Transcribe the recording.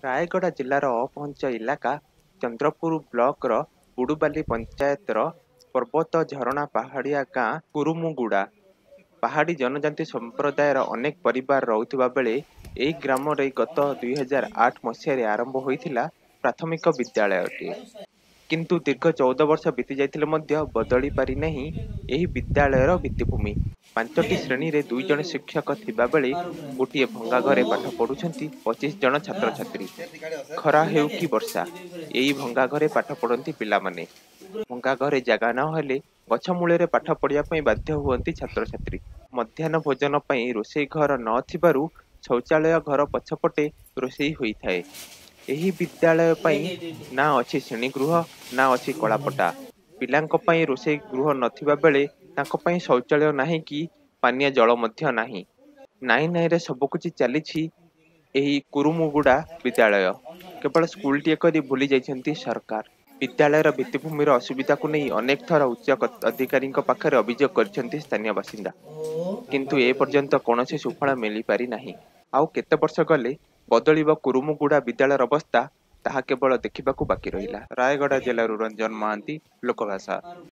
ରାୟଗଡ଼ା ଜିଲ୍ଲାର ଅପହଞ୍ଚ ଇଲାକା ଚନ୍ଦ୍ରପୁର ବ୍ଲକର ବୁଡୁବାଲି ପଞ୍ଚାୟତର ପର୍ବତ ଝରଣା ପାହାଡ଼ିଆ ଗାଁ କୁରୁମୁଗୁଡ଼ା। ପାହାଡ଼ି ଜନଜାତି ସମ୍ପ୍ରଦାୟର ଅନେକ ପରିବାର ରହୁଥିବା ବେଳେ ଏହି ଗ୍ରାମରେ ଗତ 2008 ମସିହାରେ ଆରମ୍ଭ ହୋଇଥିଲା ପ୍ରାଥମିକ ବିଦ୍ୟାଳୟଟିଏ। କିନ୍ତୁ ଦୀର୍ଘ 14 ବର୍ଷ ବିତି ଯାଇଥିଲେ ମଧ୍ୟ ବଦଳି ପାରିନାହିଁ ଏହି ବିଦ୍ୟାଳୟର ଭିତ୍ତିଭୂମି। 5ଟି ଶ୍ରେଣୀରେ 2 ଜଣ ଶିକ୍ଷକ ଥିବାବେଳେ ଗୋଟିଏ ଭଙ୍ଗା ଘରେ ପାଠ ପଢୁଛନ୍ତି 25 ଜଣ ଛାତ୍ରଛାତ୍ରୀ। ଖରା ହେଉ କି ବର୍ଷା, ଏହି ଭଙ୍ଗା ଘରେ ପାଠ ପଢନ୍ତି ପିଲାମାନେ। ଭଙ୍ଗା ଘରେ ଜାଗା ନହେଲେ ଗଛ ମୂଳରେ ପାଠ ପଢିବା ପାଇଁ ବାଧ୍ୟ ହୁଅନ୍ତି ଛାତ୍ରଛାତ୍ରୀ। ମଧ୍ୟାହ୍ନ ଭୋଜନ ପାଇଁ ରୋଷେଇ ଘର ନ ଥିବାରୁ ଶୌଚାଳୟ ଘର ପଛପଟେ ରୋଷେଇ ହୋଇଥାଏ। ଏହି ବିଦ୍ୟାଳୟ ପାଇଁ ନା ଅଛି ଶ୍ରେଣୀଗୃହ ନା ଅଛି କଳାପଟା। ପିଲାଙ୍କ ପାଇଁ ରୋଷେଇ ଗୃହ ନଥିବା ବେଳେ ତାଙ୍କ ପାଇଁ ଶୌଚାଳୟ ନାହିଁ କି ପାନୀୟ ଜଳ ମଧ୍ୟ ନାହିଁ। ନାଇଁ ନାଇଁରେ ସବୁକିଛି ଚାଲିଛି ଏହି କୁରୁମୁଗୁଡ଼ା ବିଦ୍ୟାଳୟ। କେବଳ ସ୍କୁଲଟିଏ କରି ଭୁଲି ଯାଇଛନ୍ତି ସରକାର। ବିଦ୍ୟାଳୟର ଭିତ୍ତିଭୂମିର ଅସୁବିଧାକୁ ନେଇ ଅନେକ ଥର ଉଚ୍ଚ ଅଧିକାରୀଙ୍କ ପାଖରେ ଅଭିଯୋଗ କରିଛନ୍ତି ସ୍ଥାନୀୟ ବାସିନ୍ଦା। କିନ୍ତୁ ଏପର୍ଯ୍ୟନ୍ତ କୌଣସି ସୁଫଳ ମିଳିପାରିନାହିଁ। ଆଉ କେତେ ବର୍ଷ ଗଲେ ବଦଳିବ କୁରୁମୁଗୁଡ଼ା ବିଦ୍ୟାଳୟର ଅବସ୍ଥା, ତାହା କେବଳ ଦେଖିବାକୁ ବାକି ରହିଲା। ରାୟଗଡ଼ା ଜିଲ୍ଲାରୁ ରଞ୍ଜନ ମହାନ୍ତି, ଲୋକଭାଷା।